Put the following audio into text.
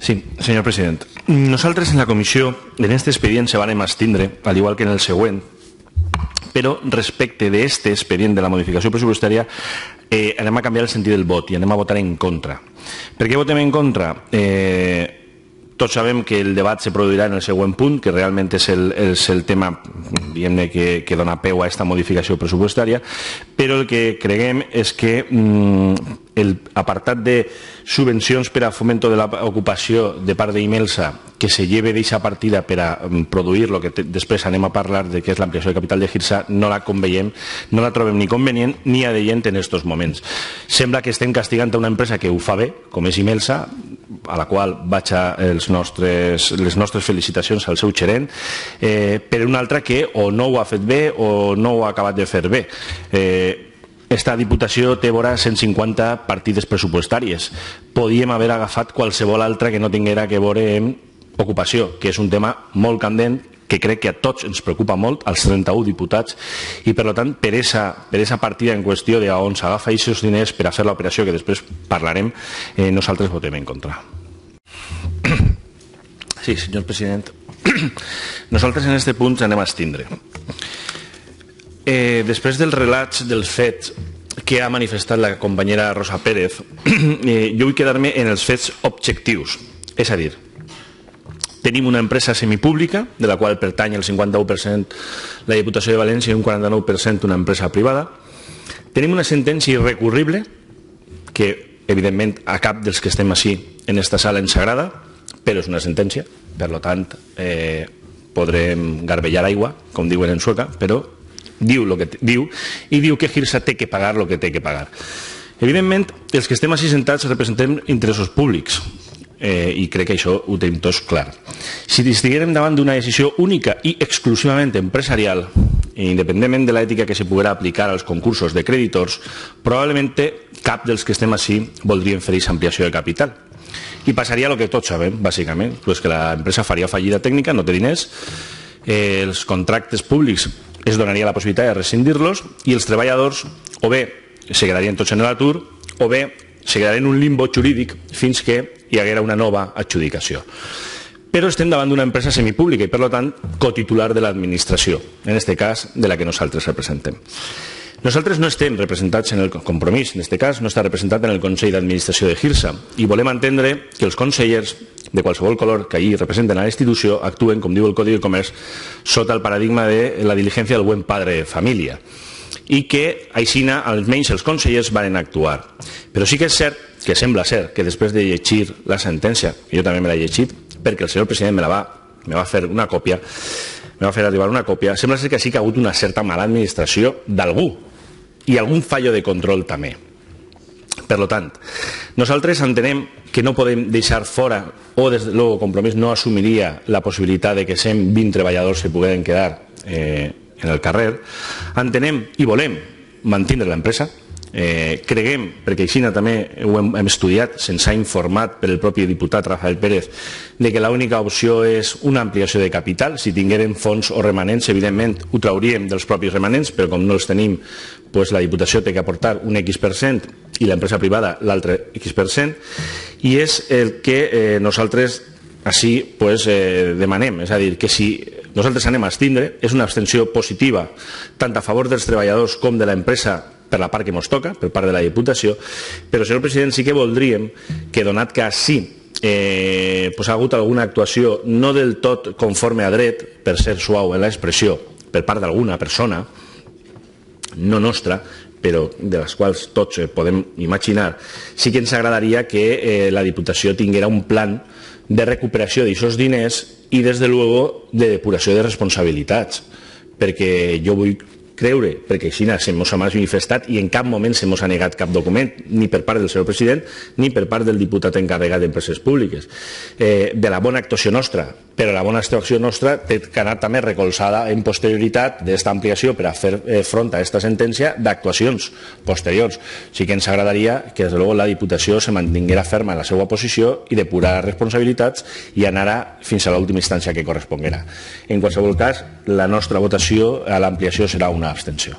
Sí, senyor president. Nosaltres en la comissió, en aquest expedient se van abstindre, al igual que en el següent, però respecte d'aquest expedient de la modificació pressupostària anem a canviar el sentit del vot i anem a votar en contra. Per què votem en contra? Tots sabem que el debat se produirà en el següent punt, que realment és el tema que dona peu a aquesta modificació pressupostària, però el que creguem és que l'apartat de subvencions per a fomento de l'ocupació de part d'Imelsa, que se lleve d'aquesta partida per a produir el que després anem a parlar de què és l'ampliació de capital de Hirsa, no la conveiem, no la trobem ni convenient ni adeient en aquests moments. Sembla que estem castigant a una empresa que ho fa bé, com és Imelsa, a la qual vaig a les nostres felicitacions al seu gerent, per una altra que o no ho ha fet bé o no ho ha acabat de fer bé. Esta Diputació té vora 150 partides pressupostàries. Podíem haver agafat qualsevol altra que no tinguera que veure amb ocupació, que és un tema molt candent, que crec que a tots ens preocupa molt, als 31 diputats, i per tant, per esa partida en qüestió d'on s'agafa aquests diners per a fer l'operació, que després parlarem, nosaltres votem en contra. Sí, senyor president. Nosaltres en aquest punt anem a abstindre. Després dels relats dels fets que ha manifestat la companyera Rosa Pérez, jo vull quedar-me en els fets objectius. És a dir, tenim una empresa semipública, de la qual pertany el 51% la Diputació de València i un 49% una empresa privada. Tenim una sentència irrecurrible, que evidentment a cap dels que estem així en aquesta sala ens agrada, però és una sentència, per tant podrem garbellar aigua, com diuen en sueca, però diu el que diu, i diu que Hirsa té que pagar el que té que pagar. Evidentment, els que estem així sentats representem interessos públics, i crec que això ho tenim tots clar. Si estiguérem davant d'una decisió única i exclusivament empresarial, independentment de l'ètica que se poguera aplicar als concursos de creditors, probablement cap dels que estem així voldrien fer aquesta ampliació de capital. I passaria el que tots sabem, bàsicament, que l'empresa faria fallida tècnica, no té diners, els contractes públics es donaria la possibilitat de rescindir-los i els treballadors o bé se quedarien tots en l'atur o bé se quedarien en un limbo jurídic fins que hi haguera una nova adjudicació. Però estem davant d'una empresa semipública i, per tant, cotitular de l'administració, en aquest cas de la que nosaltres representem. Nosaltres no estem representats en el Compromís, en aquest cas no està representat en el Consell d'Administració de Hirsa i volem entendre que els consellers de qualsevol color que allí representen a la institució actuen, com diu el Codi de Comerç, sota el paradigma de la diligència del buen padre de família i que aixina almenys els consellers van actuar. Però sí que és cert, que sembla ser, que després de llegir la sentència, jo també me l'he llegit perquè el senyor president me va fer una còpia, me va fer arribar una còpia, sembla ser que sí que ha hagut una certa mala administració d'algú i algun fallo de control també. Per tant, nosaltres entenem que no podem deixar fora, o des de luego Compromís no assumiria la possibilitat de que 120 treballadors se pogueren quedar en el carrer. Entenem i volem mantindre l'empresa. Creguem, perquè així també ho hem estudiat, se'ns ha informat per el propi diputat Rafael Pérez, de que l'única opció és una ampliació de capital. Si tinguérem fons o remanents, evidentment ho trauríem dels propis remanents, però com no els tenim, la Diputació té que aportar un X% i l'empresa privada l'altre X%, i és el que nosaltres així demanem. És a dir, que si nosaltres anem a abstindre, és una abstenció positiva tant a favor dels treballadors com de l'empresa per la part que ens toca, per part de la Diputació, però, senyor president, sí que voldríem que, donat que així ha hagut alguna actuació no del tot conforme a dret, per ser suau en l'expressió, per part d'alguna persona, no nostra, però de les quals tots podem imaginar, sí que ens agradaria que la Diputació tinguera un plan de recuperació d'aquests diners i, des de luego, de depuració de responsabilitats, perquè jo vull creure, perquè així se mos ha manifestat i en cap moment se mos ha negat cap document, ni per part del senyor president ni per part del diputat encarregat d'Empreses Públiques, de la bona actuació nostra. Però la bona actuació nostra té que anar també recolzada en posterioritat d'esta ampliació per a fer front a aquesta sentència d'actuacions posteriors. Sí que ens agradaria que, des de luego, la Diputació se mantinguera ferma en la seva posició i depurar responsabilitats i anara fins a l'última instància que corresponguera. En qualsevol cas, la nostra votació a l'ampliació serà una abstenció.